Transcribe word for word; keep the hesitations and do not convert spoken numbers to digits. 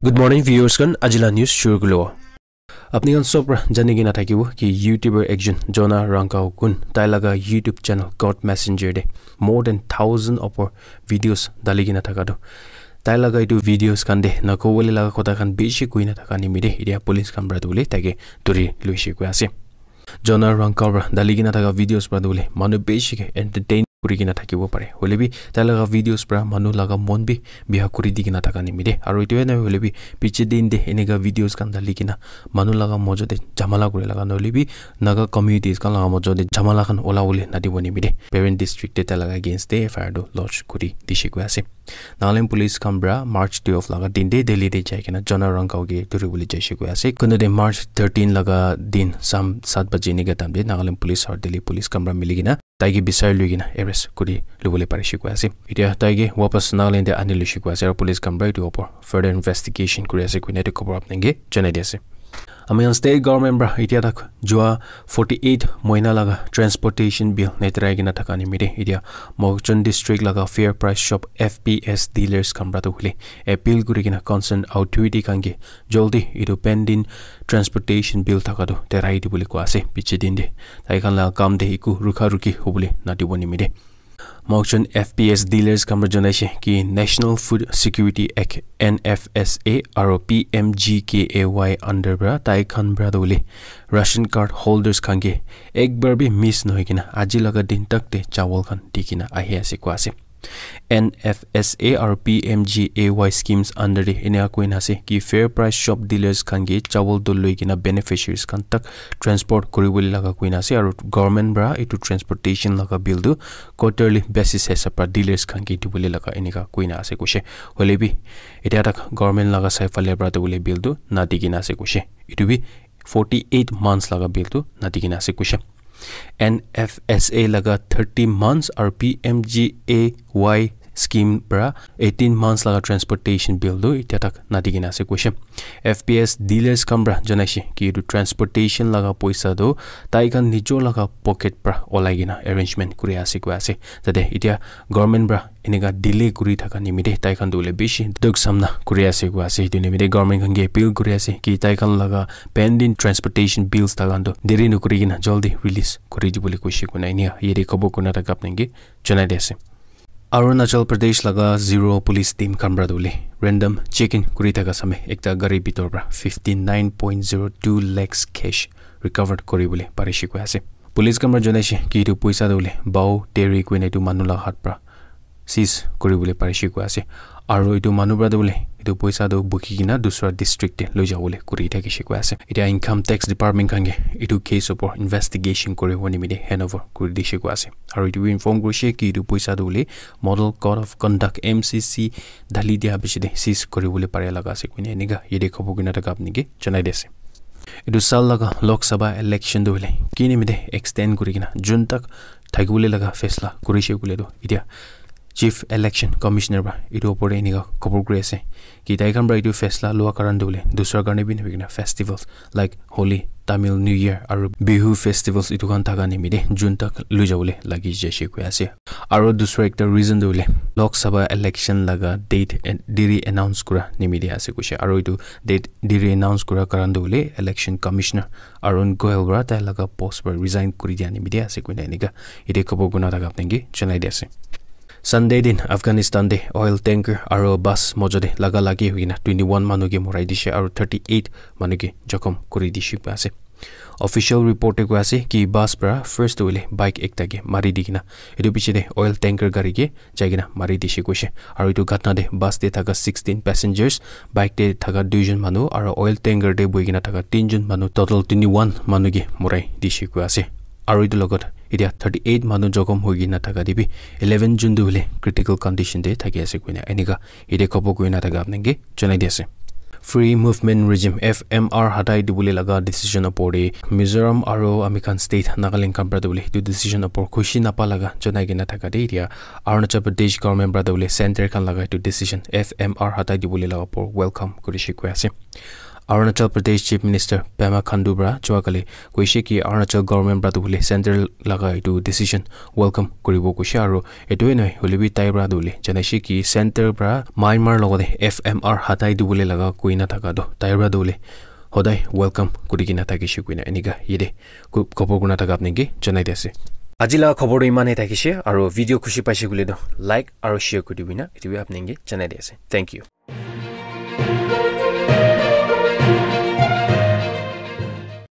Good morning, viewers khan. Ajila news shuru kulo. Apni khan sob pra jani kena thakibo ki YouTuber ekjon Jonah Rangkao kun tai laga YouTube channel God Messenger de more than thousand upor videos dali kena thaka tu. Tai laga itu videos khan de na kobole laga kotha khan bishi koi na thaka nimide itia police khan pra tu le tai ke duri luishe koi ase. Jonah Rangkao pra dali kena thaka videos pra tu le manu bishi ke entertain kuri kena thakibo pare. Hoile bi tai laga videos pra manu laga mon bi biha kuri di kena thaka nimide. Aru itu na hoile bi piche din de eneka videos khan dali kena manu laga mojo de jamala kuri laga nohole bi Naga communities khan laga mojo de jamala khan ola wole nadibo nimide. Peren district te tai laga against de F I R tu lodge kuri dishe koi ase. Nagaland police khan pra March twelve laga din de Delhi de jai kena Jonah Rangkao ke duri bole jaishe koi ase. Kunde de March thirteen laga din sam sat baje eneka time de Nagaland police aru Delhi police khan pra mili kena tai ke bisari lui kena arrest kuri lubole parishe koi ase. Itia tai ke wapas Nagaland te ani luishe koi ase aru police khan pra itu opor further investigation kuri ase koina itu khobor apnai ke janai di ase. Ami khan state government pra itia tak jua forty-eight moina laga transportation bill neterai kena thaka nimide itia Mokokchung district laga fair price shop F P S dealers khan pra tu hule appeal kuri kena concern authority khan ke joldi itu pending transportation bill thaka tu terai di bole koi ase piche din de. Tai khan laga kam de iku rukha rukhi hobole nadibo nimide. Mokokchung F P S dealers khan pra janaishe ki National Food Security Act N F S A aru P M G K A Y under pra tai khan pra tu hule ration card holders khan ke ek bar bi miss nohoi kena aji laga din tak te chawal khan di kena ahi ase koi ase. N F S A aru P M G A Y schemes under de eneka koina ase ki fair price shop dealers khan ke chawal tu loi kena beneficiaries khan tak transport kuri bole laga koina ase aru government pra itu transportation laga bill tu quarterly basis hisab pra dealers khan ke di bole laga eneka koina ase koishe. Hoile bi itia tak government laga sai phale pra tu bole bill tu nadi kena ase koishe. Itu bi forty-eight months laga bill tu nadi kena ase koishe. N F S A laga thirty months aru P M G A Y scheme pra eighteen months laga transportation bill tu itia tak nadi kena ase koishe. F P S dealers khan pra janaishe ki itu transportation laga poisa tu tai khan nijor laga pocket pra olai kena arrangement kuri ase koi ase. Tate itia government pra eneka delay kuri thaka nimite tai khan tu hule bishi dukh samna kuri ase koi ase. Itu nimite government khan ke appeal kuri ase ki tai khan laga pending transportation bills ta khan tu deri nokuri kena joldi release kuri dibole koishe koina enia yate khobor kurina thaka apni ke janai di ase. Arunachal Pradesh laga zero police team khan pra tu hule random checking kuri thaka same ekta gari bitor pra fifty nine point zero two lakhs cash recovered kuri bole parishe koi ase. Police khan pra janaishe ki itu poisa tu hule Bao Teri koina itu manu laga hat pra seize kuri bole parishe koi ase. Aru itu manu pra tu hule itu poisa tu buki kena dusra district te loi jabole kuri thakishe koi ase. Itia income tax department khan ke itu case opor investigation kuri bo nimite handover kuri dishe koi ase. Aru itu bi inform kurishe ki itu poisa tu hule Model Code of Conduct, M C C, dali dia bishi de seize kuri bole pare laga ase koina eneka yate khobor kurina thaka apni ke janai di ase. Itu sal laga Lok Sabha election tu hule ki nimite extend kuri kena June tak thaki bole laga faisla kurishe koile tu itia Chief Election Commissioner pra itu opor te eneka khobor kuri ase ki tai khan pra itu faisla lua karan tu hule dusra karne bi nabi kena festivals like Holi, Tamil New Year aru Bihu festivals itu khan thaka nimite June tak loi jabole lagi jaishe koi ase. Aru dusra ekta reason tu hule Lok Sabha election laga date and diri announce kura nimite ase koishe. Aru itu date diri announce kura karan tu hule Election Commissioner Arun Goel pra tai laga post pra resign kuri dia nimite ase koina eneka yate khobor kurina thaka apni ke janai di ase. Sunday din Afghanistan te oil tanker aru bus mojo te laga lagi hoikena twenty one manu ke morai dishe aru thirty eight manu ke jokhom kuri dishe koi ase. Official report te koi ase ki bus pra first tu hule bike ekta ke mari di kena itu piche te oil tanker gari ke jai kena mari dishe koishe. Aru itu ghatna te bus te thaka sixteen passengers, bike te thaka duijon manu aru oil tanker te buhi kena thaka tinjon manu, total twenty one manu ke morai dishe koi ase. Aru itu logot itia thirty eight manu jokhom hoi kena thaka te bi eleven jon tu hule critical condition te thaki ase koina eneka yate khobor kurina thaka apni ke janai di ase. Free Movement Regime, F M R, hatai dibole laga decision opor te Mizoram aru ami khan state Nagaland khan pra tu hule itu decision opor khushi napa laga janai kena thaka te itia Arunachal Pradesh government pra tu hule center khan laga itu decision F M R hatai dibole laga opor welcome kurishe koi ase. Arunachal Pradesh Chief Minister Pema Khandu para joa kali koise ki Arunachal government para tu bole central laga etu decision welcome kuribo koise, aru etu he nohoi hoile bi tai para tu bole janaise ki center para Myanmar logote F M R hatai dibole laga koina thaka tu tai para tu bole hodai welcome kuri kena thakise koina enika yate ko- khobor kurina thaka apni ke janai di ase. Aji laga khobor tu iman he thakise, aru video khushi paise koile tu like aru share kuri dibina etu bi apni ke janai di ase. Thank you.